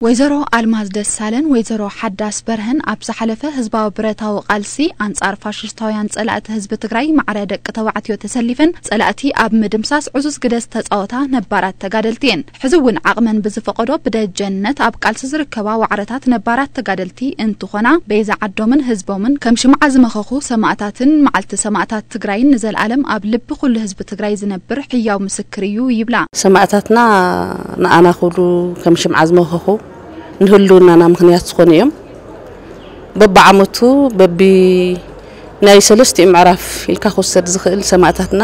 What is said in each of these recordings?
ወይዘሮ ኣልማዝ ደሳለን ወይዘሮ ሓዳስ በርሀን ኣብ ዝሓለፈ ህዝባዊ ብረታዊ ቃልሲ ኣንጻር ፋሽስታውያን ጸላእቲ ህዝቢ ትግራይ ማዕረ ደቂ ተባዕትዮ ተሰሊፈን ጸላእቲ ኣብ ምድምሳስ ዕዙዝ ግደ ዝተጻወታ ነባራት ተጋደልቲ እየን። ሕዚ እውን ዓቕመን ብዝፈቐዶ ብደጀንነት ኣብ ቃልሲ ዝርከባ ዋዕረታት ነባራት ተጋደልቲ እንትኾና፣ በይዛ ዓዶምን ህዝቦምን ከም ሽምዓ ዝመኸኹ ሰማእታትን መዓልቲ ሰማእታት ትግራይን ንዘለኣለም ኣብ ልቢ ኩሉ ህዝቢ ትግራይ ዝነብር ህያው ምስክር እዩ ይብላ። ሰማእታትና ንኣና ክብሉ ከም ሽምዓ ዝመኸኹ፣ ንህልውናና ምኽንያት ዝኾኑ እዮም። በብዓመቱ በቢ ናይ ሰለስቲኡ ምዕራፍ ኢልካ ክወሰድ ዝኽእል ሰማእታትና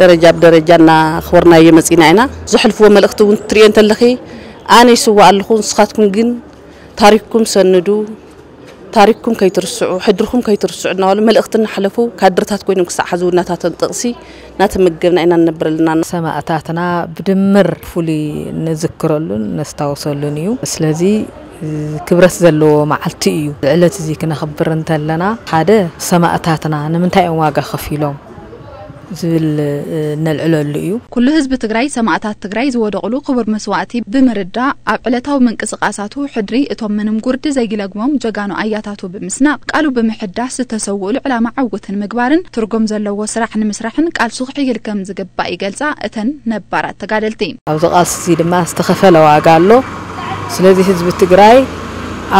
ደረጃ ብደረጃ እናኽበርናዮ መፂና ኢና። ዘሕልፍዎ መልእኽቲ እውን ትሪኦ እንተለኺ፣ ኣነ ይስዋእ ኣለኹ፣ ንስኻትኩም ግን ታሪክኩም ሰንዱ፣ ታሪክኩም ከይትርስዑ፣ ሕድርኩም ከይትርስዑ እናበሉ መልእኽቲ እናሓለፉ ካድርታት ኮይኖም ክሳዕ ሕዚ እውን ናታቶም ጥቕሲ እናተመገብና ኢና ንነብር ኣለና። ሰማእታትና ብድምር ፍሉይ ንዝክረሉን ነስታውሰሉን እዩ። ስለዚ ክብረት ዘለዎ መዓልቲ እዩ። እዚ ዕለት እዚ ክነኽብር እንተለና፣ ሓደ፣ ሰማእታትና ንምንታይ እዮም ዋጋ ከፊሎም ዝብል ነልዕለሉ እዩ። ኩሉ ህዝቢ ትግራይ ሰማእታት ትግራይ ዝወደቕሉ ክቡር መስዋእቲ ብምርዳእ፣ ኣብ ዕለታዊ ምንቅስቃሳቱ ሕድሪ እቶም ምንም ጉርዲ ዘይለግሞም ጀጋኑ ኣያታቱ ብምስናቕ፣ ቃሉ ብምሕዳስ ዝተሰውእሉ ዕላማ ዕውት ንምግባርን ትርጉም ዘለዎ ስራሕ ንምስራሕን ቃልሱ ክሕይል ከም ዝግባእ ይገልጻ እተን ነባራት ተጋደልቲ። ኣብዚ ቃልሲ እዚ ድማ ዝተኸፈለ ዋጋ ኣሎ። ስለዚ ህዝቢ ትግራይ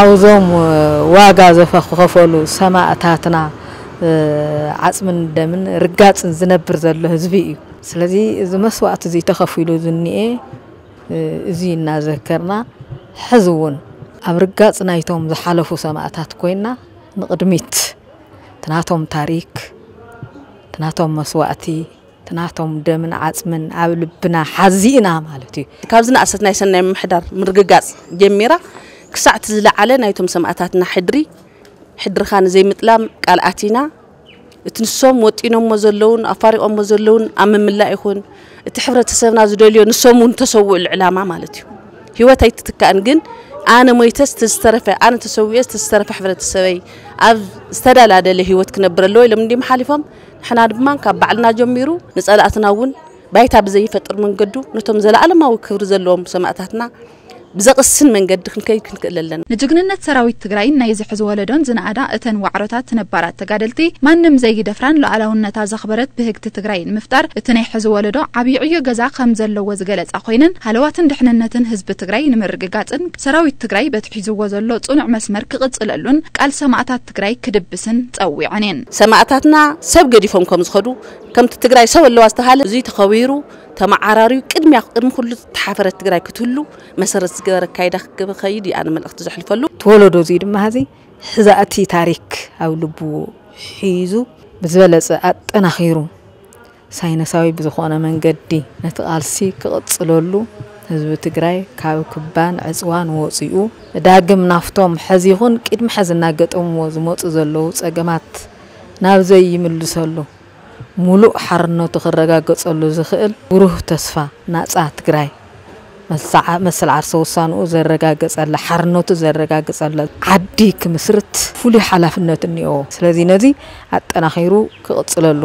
ኣብዞም ዋጋ ዘፈ-፣ ዝኸፈሉ ሰማእታትና፣ እ፣ ዓጽምን ደምን ርጋጽን ዝነብር ዘሎ ህዝቢ እዩ። ስለዚ እዚ መስዋእቲ እዚ ተኸፊሉ ዝኒኤ፣ እ፣ እዚ እናዘከርና፣ ሕዚ እውን ኣብ ርጋጽ ናይቶም ዝሓለፉ ሰማእታት ኮይና ንቕድሚት ትናቶም ታሪክ፣ ትናቶም መስዋእቲ፣ ትናቶም ደምን ዓጽምን ኣብ ልብና ሓዚእና ማለት እዩ። ካብ ዝነኣሰት ናይ ሰናይ ምምሕዳር ምርግጋጽ ጀሚራ ክሳዕ እቲ ዝለዓለ ናይቶም ሰማእታትና ሕድሪ፣ ሕድርኻ ንዘይምጥላም ቃል ኣቲና፣ እቲ ንሶም ወጢኖሞ ዘለውን ኣፋሪቖሞ ዘለውን ኣብ ምምላእ ይኹን፣ እቲ ሕብረተሰብና ዝደልዮ ንሶም እውን ተሰውእሉ ዕላማ ማለት እዩ። ህይወት ኣይትትካእን፣ ግን ኣነ ሞይተስ እቲ ዝተረፈ፣ ኣነ ተሰዊኤስ እቲ ዝተረፈ ሕብረተሰበይ ኣብ ዝተደላደለ ህይወት ክነብር ኣለዎ ኢሎም እንዲም ሓሊፎም፣ ንሕና ድማ ካብ ባዕልና ጀሚሩ ንጸላእትና እውን ባይታ ብዘይፈጥር መንገዱ ነቶም ዘለኣለማዊ ክብሪ ዘለዎም ሰማእታትና ብዘቕስን መንገዲ ክንከይድ ክንክእል ኣለና። ንጅግንነት ሰራዊት ትግራይን ናይዚ ሕዚ ወለዶን ዝነኣዳ እተን ዋዕሮታት ነባራት ተጋደልቲ፣ ማንም ዘይደፍራን ሉዓላውነታ ዘኽበረት ብህግቲ ትግራይ ንምፍጣር እቲ ናይ ሕዚ ወለዶ ዓብዪ ዕዮ ገዛ ከም ዘለዎ ዝገለጻ ኮይነን፣ ሃለዋትን ድሕንነትን ህዝቢ ትግራይ ንምርግጋጽን ሰራዊት ትግራይ በቲ ሒዝዎ ዘሎ ጽኑዕ መስመር ክቕጽለሉን ቃል ሰማእታት ትግራይ ክድብስን ጸዊዐን እየን። ሰማእታትና ሰብ ገዲፎም ከም ዝኸዱ፣ ከምቲ ትግራይ ሰብ ኣለዋ ዝተሃለ፣ እዚ ተኸቢሩ ተመዓራርዩ ቅድሚያ፣ ቅድሚ ኩሉ ተሓፈረት ትግራይ ክትህሉ መሰረት ዝገበረ ኣካይዳ ክኸይድ እዩ ኣነ መልእኽቲ ዘሕልፈሉ። እቲ ወለዶ እዚ ድማ ሕዚ ሕዛእቲ ታሪክ ኣብ ልቡ ሒዙ ብዝበለጸ ኣጠናኺሩ ሳይንሳዊ ብዝኾነ መንገዲ ነቲ ቃልሲ ክቕጽለሉ፣ ህዝቢ ትግራይ ካብ ክባን ዕጽዋን ወጺኡ ዳግም ናፍቶም ሕዚ ይኹን ቅድሚ ሕዚ እናገጠምዎ ዝመጹ ዘለዉ ጸገማት ናብ ዘይምልሰሉ፣ ሙሉእ ሓርነቱ ክረጋገጸሉ ዝኽእል ብሩህ ተስፋ፣ ናጻ ትግራይ፣ መሰዓ-፣ መሰል ዓርሰ ውሳንኡ ዘረጋገጸላ፣ ሓርነቱ ዘረጋገጸላ ዓዲ ክምስርት ፍሉይ ሓላፍነት እኒኦ። ስለዚ ነዚ ኣጠናኺሩ ክቕጽለሉ።